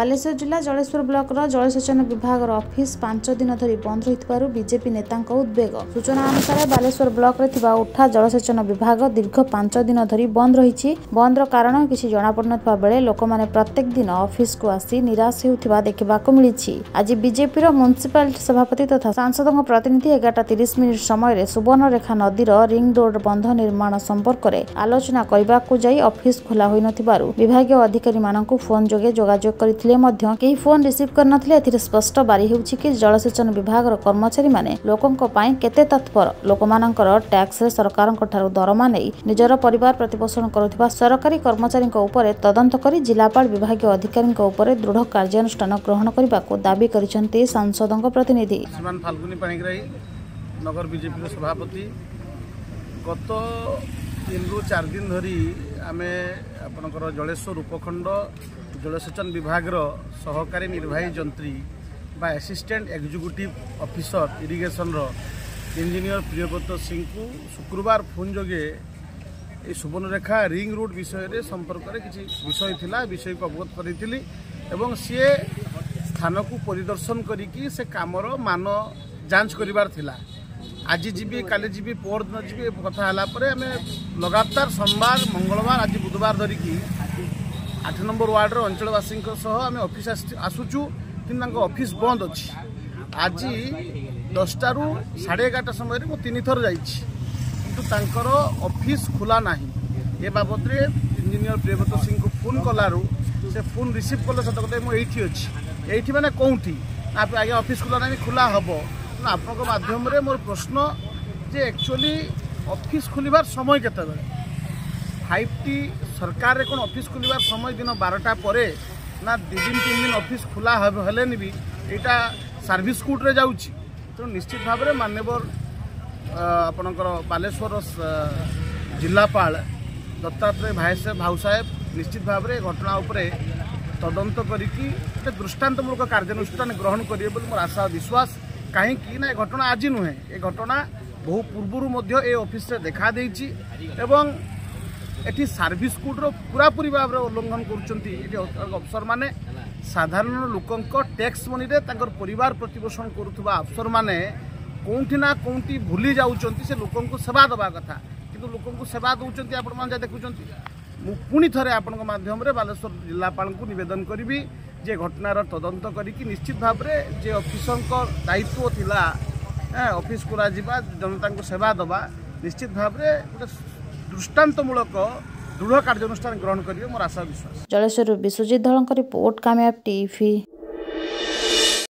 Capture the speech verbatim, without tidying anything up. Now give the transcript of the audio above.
ବାଲେଶ୍ୱର ଜିଲ୍ଲା ଜଳେଶ୍ୱର ବ୍ଲକର ଜଳସେଚନ ବିଭାଗର ଅଫିସ ପାଞ୍ଚ ଦିନ ଧରି ବନ୍ଦ ରହିଥିବାରୁ ବିଜେପି ନେତାଙ୍କ ଉଦ୍ବେଗ। ସୂଚନା ଅନୁସାରେ ବାଲେଶ୍ୱର ବ୍ଲକରେ ଥିବା ଉଠା ଜଳସେଚନ ବିଭାଗ ଦୀର୍ଘ ପାଞ୍ଚ ଦିନ ଧରି ବନ୍ଦ ରହିଛି। ବନ୍ଦର କାରଣ କିଛି ଜଣାପଡୁନଥିବା ବେଳେ ଲୋକମାନେ ପ୍ରତ୍ୟେକ ଦିନ ଅଫିସକୁ ଆସି ନିରାଶ ହେଉଥିବା ଦେଖିବାକୁ ମିଳିଛି। ଆଜି ବିଜେପିର ମ୍ୟୁନିସିପାଲିଟି ସଭାପତି ତଥା ସାଂସଦଙ୍କ ପ୍ରତିନିଧି ଏଗାରଟା ତିରିଶ ମିନିଟ୍ ସମୟରେ ସୁବର୍ଣ୍ଣରେଖା ନଦୀର ରିଂ ରୋଡ ବନ୍ଧ ନିର୍ମାଣ ସମ୍ପର୍କରେ ଆଲୋଚନା କରିବାକୁ ଯାଇ ଅଫିସ ଖୋଲା ହୋଇନଥିବାରୁ ବିଭାଗୀୟ ଅଧିକାରୀମାନଙ୍କୁ ଫୋନ୍ ଯୋଗେ ଯୋଗାଯୋଗ କରିଥିଲେ ମଧ୍ୟ କେହି ଫୋନ୍ ରିସିଭ୍ କରିନଥିଲେ। ଏଥିରେ ସ୍ପଷ୍ଟ ବାରି ହେଉଛି କି ଜଳସେଚନ ବିଭାଗର କର୍ମଚାରୀମାନେ ଲୋକଙ୍କ ପାଇଁ କେତେ ତତ୍ପର। ଲୋକମାନଙ୍କର ଟ୍ୟାକ୍ସରେ ସରକାରଙ୍କ ଠାରୁ ଦରମା ନେଇ ନିଜର ପରିବାର ପ୍ରତିପୋଷଣ କରୁଥିବା ସରକାରୀ କର୍ମଚାରୀଙ୍କ ଉପରେ ତଦନ୍ତ କରି ଜିଲ୍ଲାପାଳ ବିଭାଗୀୟ ଅଧିକାରୀଙ୍କ ଉପରେ ଦୃଢ଼ କାର୍ଯ୍ୟାନୁଷ୍ଠାନ ଗ୍ରହଣ କରିବାକୁ ଦାବି କରିଛନ୍ତି ସାଂସଦଙ୍କ ପ୍ରତିନିଧି। ଶ୍ରୀମାନ ଫାଲ୍ଗୁନି ପାଣିଗ୍ରାହୀ, ନଗର ବିଜେପିର ସଭାପତି। ଗତ ତିନିରୁ ଚାରି ଦିନ ଧରି ଆମେ ଆପଣଙ୍କର ଜଳେଶ୍ୱର ଉପଖଣ୍ଡ ଜଳସେଚନ ବିଭାଗର ସହକାରୀ ନିର୍ବାହୀ ଯନ୍ତ୍ରୀ ବା ଆସିଷ୍ଟାଣ୍ଟ ଏକ୍ଜିକ୍ୟୁଟିଭ୍ ଅଫିସର ଇରିଗେସନର ଇଞ୍ଜିନିୟର ପ୍ରିୟବ୍ରତ ସିଂଙ୍କୁ ଶୁକ୍ରବାର ଫୋନ୍ ଯୋଗେ এই ସୁବର୍ଣ୍ଣରେଖା ରିଙ୍ଗ ରୋଡ୍ ବିଷୟରେ ସମ୍ପର୍କରେ କିଛି ବିଷୟ ଥିଲା, ବିଷୟକୁ ଅବଗତ କରିଥିଲି ଏବଂ ସିଏ ସ୍ଥାନକୁ ପରିଦର୍ଶନ କରିକି ସେ କାମର ମାନ ଯାଞ୍ଚ କରିବାର ଥିଲା। ଆଜି ଯିବି, କାଲି ଯିବି, ପରଦିନ ଯିବି କଥା ହେଲା ପରେ ଆମେ ଲଗାତାର ସୋମବାର, ମଙ୍ଗଳବାର, ଆଜି ବୁଧବାର ଧରିକି ଆଠ ନମ୍ବର ୱାର୍ଡ଼ର ଅଞ୍ଚଳବାସୀଙ୍କ ସହ ଆମେ ଅଫିସ୍ ଆସୁଛୁ, କିନ୍ତୁ ତାଙ୍କ ଅଫିସ୍ ବନ୍ଦ ଅଛି। ଆଜି ଦଶଟାରୁ ସାଢ଼େ ଏଗାରଟା ସମୟରେ ମୁଁ ତିନିଥର ଯାଇଛି, କିନ୍ତୁ ତାଙ୍କର ଅଫିସ୍ ଖୋଲା ନାହିଁ। ଏ ବାବଦରେ ଇଞ୍ଜିନିୟର ପ୍ରିୟବ୍ରତ ସିଂଙ୍କୁ ଫୋନ୍ କଲାରୁ ସେ ଫୋନ୍ ରିସିଭ୍ କଲେ। ସତ କଥା, ମୁଁ ଏଇଠି ଅଛି। ଏଇଠି ମାନେ କେଉଁଠି? ନା ଆଜ୍ଞା, ଅଫିସ୍ ଖୋଲା ନାହିଁ, ଖୋଲା ହେବ। ତେଣୁ ଆପଣଙ୍କ ମାଧ୍ୟମରେ ମୋର ପ୍ରଶ୍ନ ଯେ ଆକ୍ଚୁଆଲି ଅଫିସ୍ ଖୋଲିବାର ସମୟ କେତେବେଳେ? ଫାଇଭ୍ ଟି ସରକାରରେ କ'ଣ ଅଫିସ୍ ଖୋଲିବାର ସମୟ ଦିନ ବାରଟା ପରେ ନା ଦୁଇ ଦିନ ତିନି ଦିନ ଅଫିସ୍ ଖୋଲା ହେଲେନି ବି ଏଇଟା ସର୍ଭିସ୍ କୋଡ଼୍ରେ ଯାଉଛି? ତେଣୁ ନିଶ୍ଚିତ ଭାବରେ ମାନ୍ୟବର ଆପଣଙ୍କର ବାଲେଶ୍ୱର ଜିଲ୍ଲାପାଳ ଦତ୍ତାତ୍ରେୟ ଭାଇ ଭାଉ ସାହେବ ନିଶ୍ଚିତ ଭାବରେ ଘଟଣା ଉପରେ ତଦନ୍ତ କରିକି ଗୋଟେ ଦୃଷ୍ଟାନ୍ତମୂଳକ କାର୍ଯ୍ୟାନୁଷ୍ଠାନ ଗ୍ରହଣ କରିବେ ବୋଲି ମୋର ଆଶା ବିଶ୍ୱାସ। କାହିଁକି ନା ଏ ଘଟଣା ଆଜି ନୁହେଁ, ଏ ଘଟଣା ବହୁ ପୂର୍ବରୁ ମଧ୍ୟ ଏ ଅଫିସରେ ଦେଖାଦେଇଛି ଏବଂ ଏଠି ସର୍ଭିସ୍ କୋଡ଼୍ର ପୁରାପୁରି ଭାବରେ ଉଲ୍ଲଂଘନ କରୁଛନ୍ତି ଏଠି ଅଫିସରମାନେ। ସାଧାରଣ ଲୋକଙ୍କ ଟ୍ୟାକ୍ସ ମନିରେ ତାଙ୍କର ପରିବାର ପ୍ରତିପୋଷଣ କରୁଥିବା ଅଫିସରମାନେ କେଉଁଠି ନା କେଉଁଠି ଭୁଲି ଯାଉଛନ୍ତି ସେ ଲୋକଙ୍କୁ ସେବା ଦେବା କଥା, କିନ୍ତୁ ଲୋକଙ୍କୁ ସେବା ଦେଉଛନ୍ତି ଆପଣମାନେ ଯାହା ଦେଖୁଛନ୍ତି। ମୁଁ ପୁଣି ଥରେ ଆପଣଙ୍କ ମାଧ୍ୟମରେ ବାଲେଶ୍ୱର ଜିଲ୍ଲାପାଳଙ୍କୁ ନିବେଦନ କରିବି ଯେ ଘଟଣାର ତଦନ୍ତ କରିକି ନିଶ୍ଚିତ ଭାବରେ ଯେ ଅଫିସରଙ୍କ ଦାୟିତ୍ୱ ଥିଲା ଅଫିସ କରାଯିବା, ଜନତାଙ୍କୁ ସେବା ଦେବା, ନିଶ୍ଚିତ ଭାବରେ ଗୋଟେ ଦୃଷ୍ଟାନ୍ତମୂଳକ ଦୃଢ଼ କାର୍ଯ୍ୟାନୁଷ୍ଠାନ ଗ୍ରହଣ କରିବେ ମୋର ଆଶା ବିଶ୍ୱାସ। ଜଳେଶ୍ୱରରୁ ବିଶ୍ୱଜିତ ଧଳଙ୍କ ରିପୋର୍ଟ, କାମୟାବ ଟିଭି।